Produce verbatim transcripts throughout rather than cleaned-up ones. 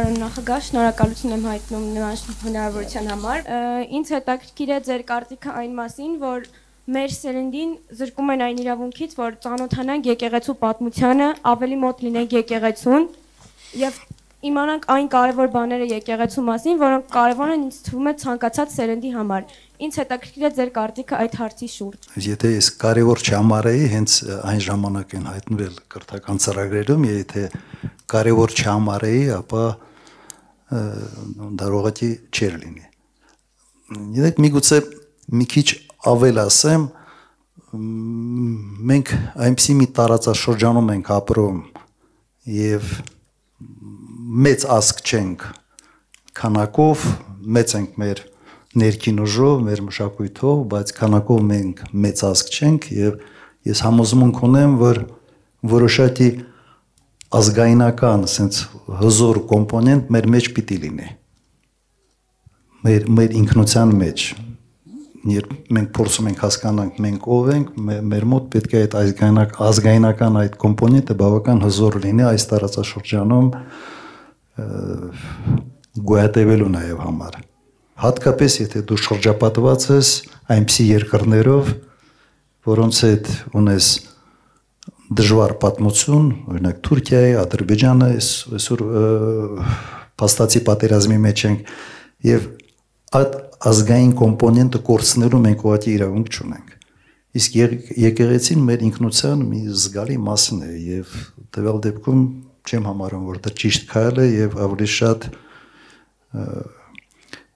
պարոն նախագահ, շնորհակալություն եմ հայտնում նման հնարավորության համար։ Ինձ հետաքրքիր է ձեր կարծիքը այն մասին, որ մեր սերնդին զրկում են այն իրավունքից, որ ծանոթանանք եկեղեցու պատմությանը, ավելի մոտ լինենք եկեղեցուն եւ իմանանք այն կարևոր բաները եկեղեցու մասին, որոնք կարևոր են ինձ թվում է ցանկացած սերնդի համար։ Ինձ հետաքրքիր է ձեր կարծիքը այդ հարցի շուրջ։ Եթե ես կարևոր չհամարեի, հենց այն ժամանակ են հայտնվել կրթական ծրագրերում, եթե կարևոր չհամարեի, ապա դա ուղղակի չէր լինի։ Գիտեք, միգուցե մի քիչ ավել ասեմ, մենք այնպիսի մի տարածաշրջանում ենք ապրում եւ մեծ ազգ չենք քանակով, մեծ ենք մեր ներքին ուժով, մեր մշակույթով, բայց քանակով մենք մեծ ազգ չենք եւ ես համոզմունք ունեմ, որ որոշակի ազգայնական, ասենց հզոր կոմպոնենտ մեր մեջ պիտի լինի։ Մեր մեր ինքնության մեջ, երբ մենք փորձում ենք հասկանանք մենք ով ենք, մեր մոտ պետք է այդ ազգայնական այդ կոմպոնենտը բավական հզոր լինի այս տարածաշրջանում գոյատևելու նաև համար։ Հատկապես եթե դու շրջապատված ես այնպիսի երկրներով, որոնց հետ ունես դժվար պատմություն, օրինակ Թուրքիայի, Ադրբեջանը, այսօր փաստացի պատերազմի մեջ ենք եւ այդ ազգային կոմպոնենտը կորցնելու մենք ուղղակի իրավունք չունենք։ Իսկ եկեղեցին մեր ինքնության մի զգալի մասն է եւ տվյալ դեպքում չեմ համարում, որ դա ճիշտ քայլ է եւ ավելի շատ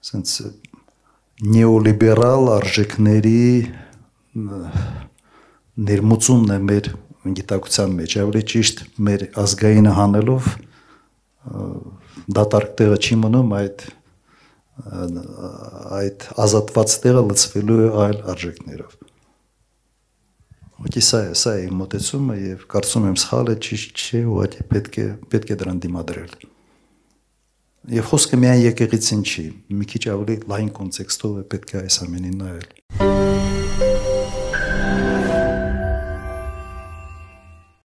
ասենց նեոլիբերալ արժեքների ներմուծումն է մեր գիտակցության մեջ, ավելի ճիշտ մեր ազգայինը հանելով դատարկ տեղը չի մնում այդ այդ ազատված տեղը լցվելու է այլ արժեքներով։ Ուղղակի սա է, սա է իմ մոտեցումը եւ կարծում եմ սխալ է, ճիշտ չէ, ուղղակի պետք է պետք է դրան դիմադրել։ Եվ խոսքը միայն եկեղեցին չի, մի քիչ ավելի լայն կոնտեքստով է պետք է այս ամենին նայել։